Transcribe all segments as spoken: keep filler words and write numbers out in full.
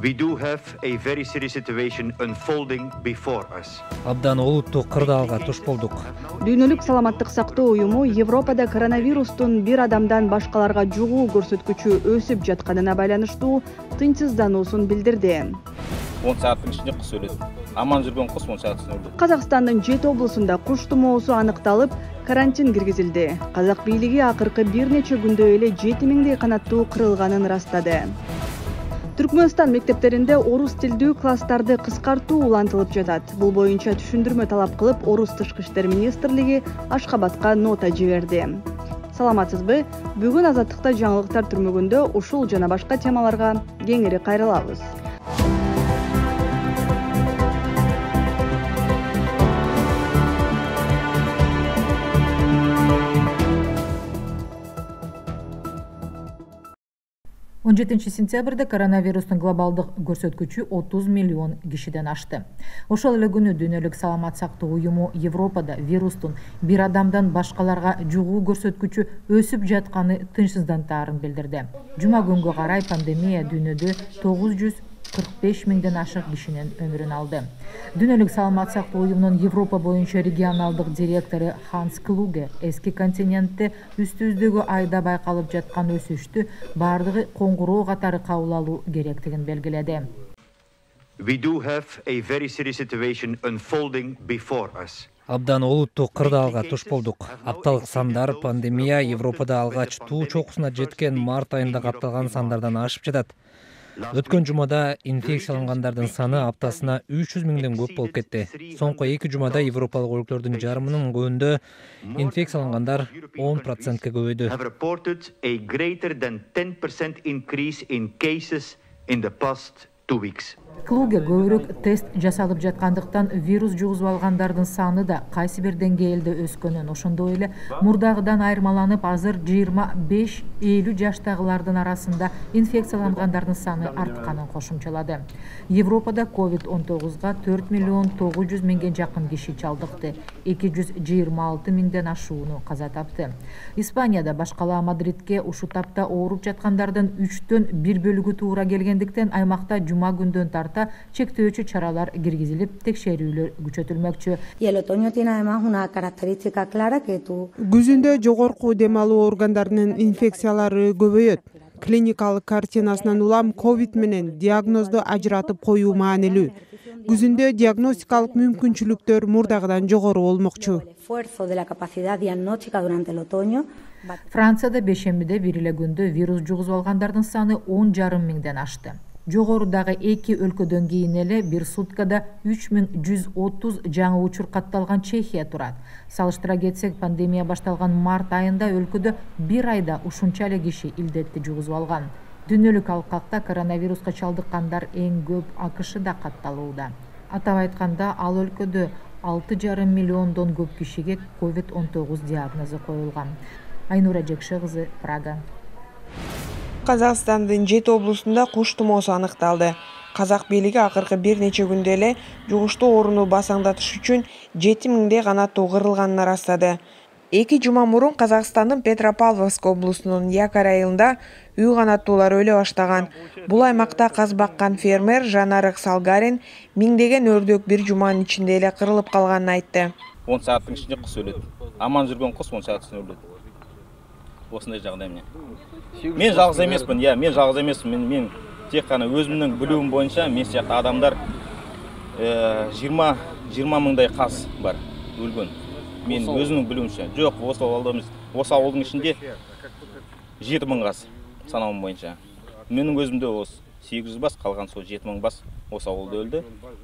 We do have a very serious situation unfolding before us. Абдан олуттуу кырдаалга туш болдук. Дүйнөлүк саламаттык сактоо уюму Европада коронавирустун бир адамдан башкаларга жугуу көрсөткүчү өсүп жатканына байланыштуу тынчсыздануусун билдирди. он сааттын ичинде куш өлөт. Аман жүргөн куш он саат ичинде өлөт. Казакстандын жети облусунда куш тумоосу аныкталып, карантин киргизилди. Казак бийлиги акыркы бир нече күндө эле жети миңдей канаттуу кырылганын растады. Түркмөнстан мектептеринде орус тилдүү класстарды кыскартуу улантылып жатат. Бул боюнча түшүндүрмө талап кылып, Орус тышкы иштер министрлиги Ашкабадка нота жиберди. Саламатсызбы? Бүгүн Азаттыкта жаңылыктар түрмөгүндө ушул жана башка темаларга кеңири кайрылабыз. он жетинчи сентябрда коронавирустун глобалдык көрсөткүчү отуз миллион кишиден ашты. Ошол эле күнү Дүйнөлүк саламат сактоо уюму Европада вирустун бир адамдан башкаларга жугуу көрсөткүчү өсүп жатканы тынчсыздантаарын билдирди. Жума күнгө карай пандемия дүйнөдө тогуз жүз кырк беш миңден ашык кишинин өмүрүн алды. Дүйнөлүк саламат сактоо уюмунун Европа боюнча регионалдык директору Ханс Клуге эски континентте үстүбүздөгү айда байкалып жаткан өсүштү баардыгы коңгуроо катары кабыл алуу керектигин белгиледи. We do have a very serious situation unfolding before us. Абдан олуттуу кырдаалга туш болдук. Апталык сандар пандемия Европада алгач туу чокусуна жеткен март айында катталган сандардан ашып жатат. Өткөн жумада инфекциялангандардын саны аптасына үч жүз миңден көп болуп кетти. Соңку эки жумада европалык өлкөлөрдүн жарымынын көбүндө инфекциялангандар он процентке көбөйдү. Have reported a greater than ten percent increase in cases in the past two weeks. Клуге көбүрөөк тест жасалып жаткандыктан вирус жугузуп алгандардын саны да кайсы бир деңгээлде өскөнүн, ошондой эле мурдагыдан айырмаланып, азыр жыйырма беш элүү жаштагылардын арасында инфекциялангандардын саны артканын кошумчалады. Европада ковид он тогузга төрт миллион тогуз жүз миңге жакын киши чалдыкты, эки жүз жыйырма алты миңден ашууну каза тапты. Испанияда башкала Мадридке ушу тапта ооруп жаткандардын үчтөн бир бөлүгү туура келгендиктен аймакта жума күндөн тарта чектөөчү чаралар киргизилип, текшерүүлөр күчөтүлмөкчү. Күзүндө жогорку дем алуу органдарынын инфекциялары көбөйөт. Клиникалык картинасынан улам ковид менен диагнозду ажыратып коюу маанилүү. Күзүндө диагностикалык мүмкүнчүлүктөр мурдагыдан жогору болмокчу. Францияда бешембиде бир эле күндө вирус жугузуп алгандардын саны он жарым миңден ашты. Жогорудагы эки өлкөдөн кийин эле бир суткада үч миң жүз отуз жаңы учур катталган Чехия турат. Салыштыра кетсек, пандемия башталган март айында өлкөдө бир айда ушунча эле киши илдетти жугузуп алган. Дүйнөлүк алкакта коронавируска чалдыккандар эң көп АКШда катталууда. Атап айтканда, ал өлкөдө алты жарым миллиондон көп кишиге ковид он тогуз диагнозу коюлган. Айнура Жекше кызы, Прага. Казакстандын жети облусунда куш тумоосу аныкталды. Казак бийлиги акыркы бир нече күндө эле жугуштуу ооруну басаңдатыш үчүн жети миңдей канаттуу кырылганын растады. Эки жума мурун Казакстандын Петропавловск облусунун Якорь айылында үй канаттуулар өлө баштаган. Бул аймакта каз баккан фермер Жанарык Салгарин миңдеген өрдөк бир жуманын ичинде эле кырылып калганын айтты. он сааттын ичинде куш өлөт. Аман жүргөн куш он саат ичинде өлөт. Осындай жагдай эмне? Мен жалгыз эмесмин, я, мен жалгыз эмесмин. Мен мен тек кана өзүмдүн билүүм боюнча мен сыяктуу адамдар жыйырма миңдай каз бар өлгөн. Мен өзүмдүн билүүмчө. Жок, осы ауылда осы ауылдын ичинде жети миң каз санауым боюнча. Менин өзүмдө осы сегиз жүз бас, калган сол жети миң бас осы ауылда өлдү.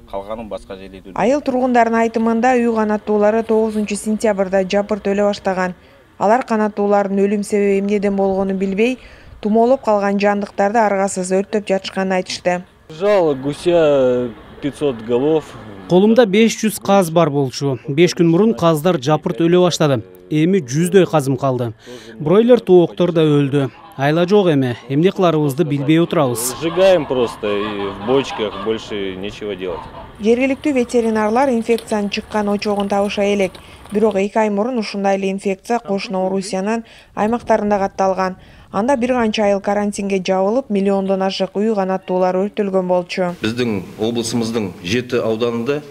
Калганын башка жерде өлдү. Айыл тургундарынын айтымында үй канаттуулары тогузунчу сентябрда жапырт өлө баштаган. Алар канаттуулардын өлүм себеби эмнеден болгонун билбей, тумоолоп калган жандыктарды аргасыз өрттөп жатышканын айтышты. Жало гуся пятьсот голов. Колумда беш жүз каз бар болчу. беш күн мурун каздар жапырт өлө баштады. Эми жүздөй казым калды. Бройлер тооктор да өлдү. Айла жок эми, эмне кыларыбызды билбей отурабыз. Сжигаем просто и в бочках, больше нечего делать. Жергиликтүү ветеринарлар инфекциянын чыккан очогун табыша элек. Бирок эки ай мурун ушундай эле инфекция кошуна Орусиянын аймактарында катталган. Анда бир канча айыл карантинге жабылып, миллиондон ашык үй канаттуулар өртөлгөн болчу. Биздин облусубуздун жети ауданында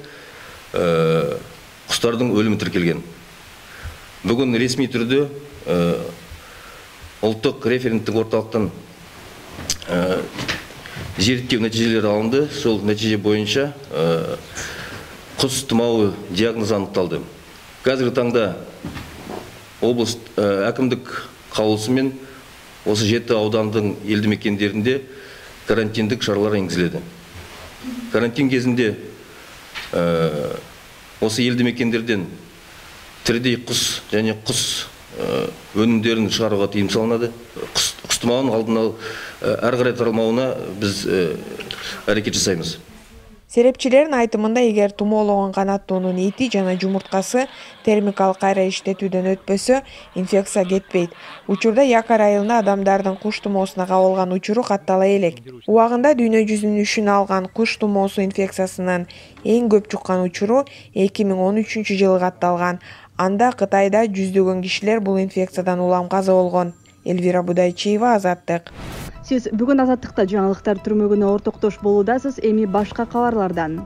кустардын өлүмү тиркелген. Бүгүн ресми түрдө улуттук референттик орталыктан зерттөө нәтижелери алынды. Сол нәтиже боюнча кус тумауы диагнозу аныкталды. Қазіргі таңда облыс әкімдік каулусумен осы жеті аудандың елді мекендерінде карантиндік шаралар енгізіледі. Карантин кезінде осы елді мекендерден тірідей құс және құс өнімдерін шығаруға тыйым салынады. Құс тұмауының алдын алып әрі қарай таралмауына біз әрекет жасаймыз. Серепчилердин айтымында, эгер тумоологон канаттуунун эти жана жумурткасы термикалык кайра иштетүүдөн өтпөсө, инфекция кетпейт. Учурда Якар айылында адамдардын куш тумоосуна кабылган учуру каттала элек. Убагында дүйнө жүзүнүн үшүн алган куш тумоосу инфекциясынын эң көп чуккан учуру эки миң он үчүнчү жылы катталган. Анда Кытайда жүздөгөн кишилер бул инфекциядан улам каза болгон. Элвира Будайчиева, Азаттык. Сиз бүгүн Азаттыкта жаңылыктар түрмөгүнө ортоктош болуудасыз. Эми башка кабарлардан.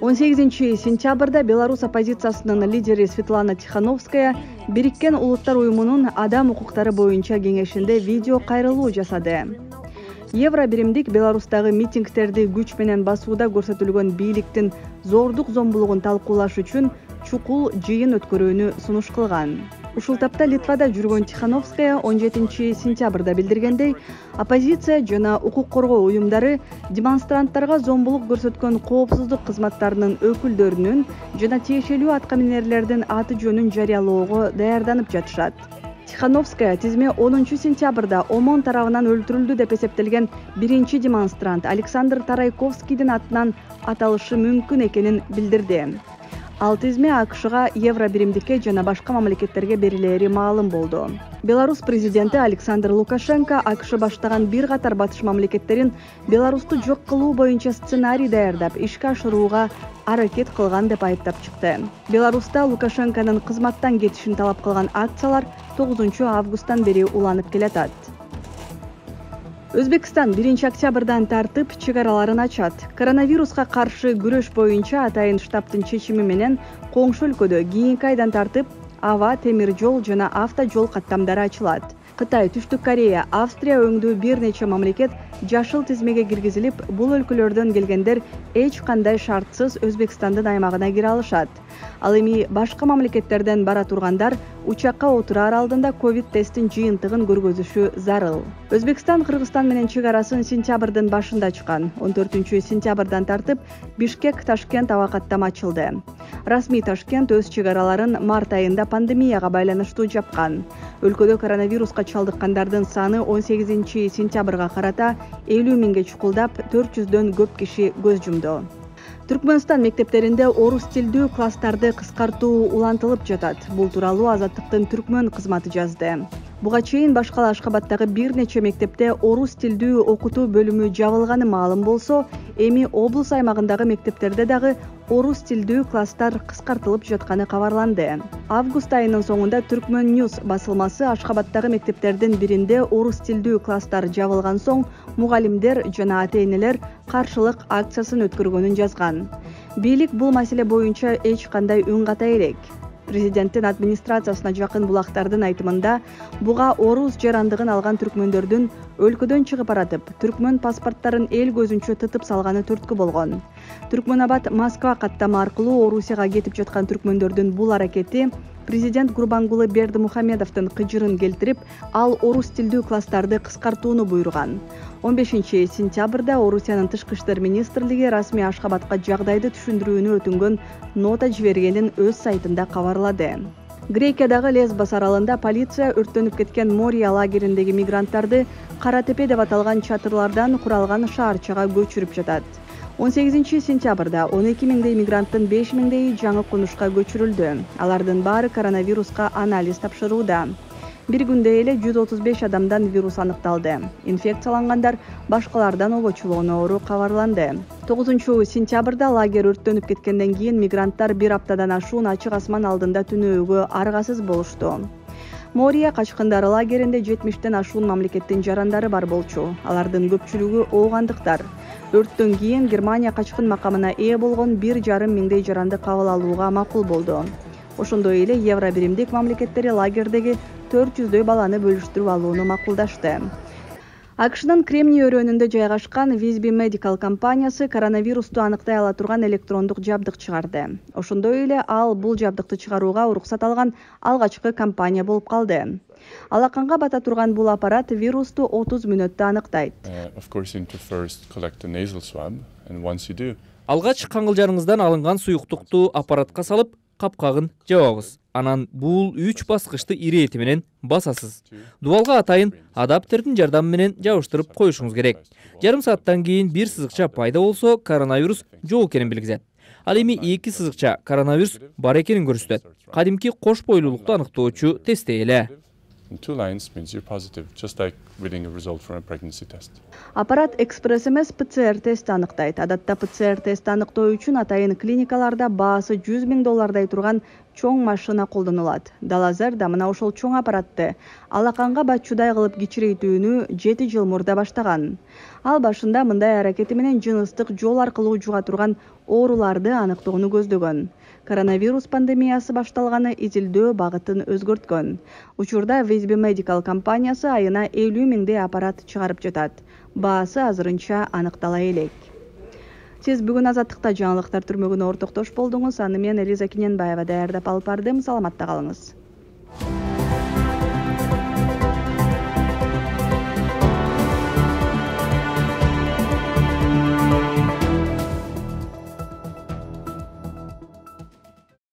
он сегизинчи сентябрда Беларусь оппозициясынын лидери Светлана Тихановская Бириккен Улуттар уюмунун адам укуктары боюнча кеңешинде видео кайрылуу жасады. Евро биримдик Беларустагы митингтерди күч менен басууда көрсөтүлгөн бийликтин зордук зомбулугун талкуулаш үчүн чукул жыйын өткөрүүнү сунуш кылган. Ушул тапта Литвада жүргөн Тихановская он жетинчи сентябрда билдиргендей, оппозиция жана укук коргоо уюмдары демонстранттарга зомбулук көрсөткөн коопсуздук кызматтарынын өкүлдөрүнүн жана тиешелүү аткаминерлердин аты жөнүн жарыялоого даярданып жатышат. Тихановская тизме онунчу сентябрда ОМОН тарабынан өлтүрүлдү деп эсептелген биринчи демонстрант Александр Тарайковскийдин атынан аталышы мүмкүн экенин билдирди. Ал тизме АКШга, евро биримдикке жана башка мамлекеттерге берилери маалым болду. Беларусь президенти Александр Лукашенко АКШ баштаган бир катар батыш мамлекеттерин Беларусту жок кылуу боюнча сценарий даярдап, ишке ашырууга аракет кылган деп айыптап чыкты. Беларуста Лукашенконун кызматтан кетишин талап кылган акциялар тогузунчу августтан бери уланып келатат. Өзбекстан биринчи октябрдан тартып чек араларын ачат. Коронавируска каршы күрөш боюнча атайын штабтын чечими менен коңшу өлкөдө кийинки айдан тартып аба, темир жол жана авто жол каттамдары ачылат. Кытай, Түштүк Корея, Австрия өңдүү бир нече мамлекет жашыл тизмеге киргизилип, бул өлкөлөрдөн келгендер эч кандай шартсыз Өзбекстандын аймагына кире алышат. Ал эми башка мамлекеттерден бара тургандар учакка отурар алдында ковид тесттин жыйынтыгын көргөзүшү зарыл. Өзбекстан Кыргызстан менен чек арасын сентябрдын башында ачкан. он төртүнчү сентябрдан тартып Бишкек Ташкент аба каттама ачылды. Расмий Ташкент өз чек араларын март айында пандемияга байланыштуу жапкан. Өлкөдө коронавируска чалдыккандардын саны он сегизинчи сентябрга карата элүү миңге чукулдап, төрт жүздөн көп киши көз жумду. Түркмөнстан мектептеринде орус тилдүү класстарды кыскартуу улантылып жатат. Бул тууралуу Азаттыктын түркмөн кызматы жазды. Буга чейин башка Ашкабадтагы бир нече мектепте орус тилдүү окутуу бөлүмү жабылганы маалым болсо, эми облус аймагындагы мектептерде дагы орус тилдүү класстар кыскартылып жатканы кабарланды. Август айынын соңунда Түркмөн Ньюс басылмасы Ашкабадтагы мектептердин биринде орус тилдүү класстар жабылган соң мугалимдер жана ата-энелер каршылык акциясын өткөргөнүн жазган. Бийлик бул маселе боюнча эч кандай үн ката элек. Президенттин администрациясына жакын булактардын айтымында, буга орус жарандыгын алган түркмөндөрдүн өлкөдөн чыгып баратып, түркмөн паспорттарын эл көзүнчө тытып салганы түрткү болгон. Түркмөнабад Москва каттама аркылуу Орусияга кетип жаткан түркмөндөрдүн бул аракети президент Гурбангулы Бердимухамедовдун кыжырын келтирип, ал орус тилдүү класстарды кыскартууну буйруган. он бешинчи сентябрда Орусиянын тышкы иштер министрлиги расмий Ашкабадка жагдайды түшүндүрүүнү өтүнгөн нота жибергенин өз сайтында кабарлады. Грекиядагы Лесбос аралында полиция өрттөнүп кеткен Мория лагериндеги мигранттарды Кара Тепе деп аталган чатырлардан куралган шаарчага көчүрүп жатат. он сегизинчи сентябрда он эки миңдей мигранттын беш миңдейи жаңы конушка көчүрүлдү. Алардын баары коронавируска анализ тапшырууда. Бир күндө эле жүз отуз беш адамдан вирус аныкталды. Инфекциялангандар башкалардан обочулоону кабарланды. тогузунчу сентябрда лагерь өрттөнүп кеткенден кийин мигранттар бир аптадан ашуун ачык асман алдында түнөөгө аргасыз болушту. Мория качкындар лагеринде жетимиштен ашуун мамлекеттин жарандары бар болчу. Алардын көпчүлүгү оогандыктар. Өрттөн кийин Германия качкын макамына ээ болгон бир жарым миңдей жаранды кабыл алууга макул болду. Ошондой эле Евро биримдик мамлекеттери лагердеги төрт жүздөй баланы бөлүштүрүп алууну макулдашты. АКШнын Кремний өрөөнүндө жайгашкан Visby Medical компаниясы коронавирусту аныктай ала турган электрондук жабдык чыгарды. Ошондой эле ал бул жабдыкты чыгарууга уруксат алган алгачкы компания болуп калды. Алаканга бата турган бул аппарат вирусту отуз мүнөттө аныктайт. Алгач каңгылжарыңыздан алынган суюктукту аппаратка салып, капкагын жабабыз. Анан бул үч баскычты ирети менен басасыз. Дубалга атайын адаптердин жардамы менен жабыштырып коюшуңуз керек. Жарым сааттан кийин бир сызыкча пайда болсо, коронавирус жок экенин билгизет. Ал эми эки сызыкча коронавирус бар экенин көрсөтөт. Кадимки кош бойлуулукту аныктоочу тесттей эле. Аппарат экспресс эмес ПЦР тест аныктайт. Адатта ПЦР тест аныктоо үчүн атайын клиникаларда баасы жүз миң доллардай турган чоң машина колдонулат. Далазер да мына ошол чоң аппаратты алаканга батчудай кылып кичирейтүүнү жети жыл мурда баштаган. Ал башында мындай аракети менен жыныстык жол аркылуу жуга турган ооруларды аныктоону көздөгөн. Коронавирус пандемиясы башталганы изилдөө багытын өзгөрткөн. Учурда Visby Medical компаниясы айына элүү миңдей аппарат чыгарып жатат. Баасы азырынча аныктала элек. Сиз бүгүн Азаттыкта жаңылыктар түрмөгүнө ортоктош болдуңуз. Аны мен Элиза Киненбаева даярдап алып бардым. Саламатта калыңыз.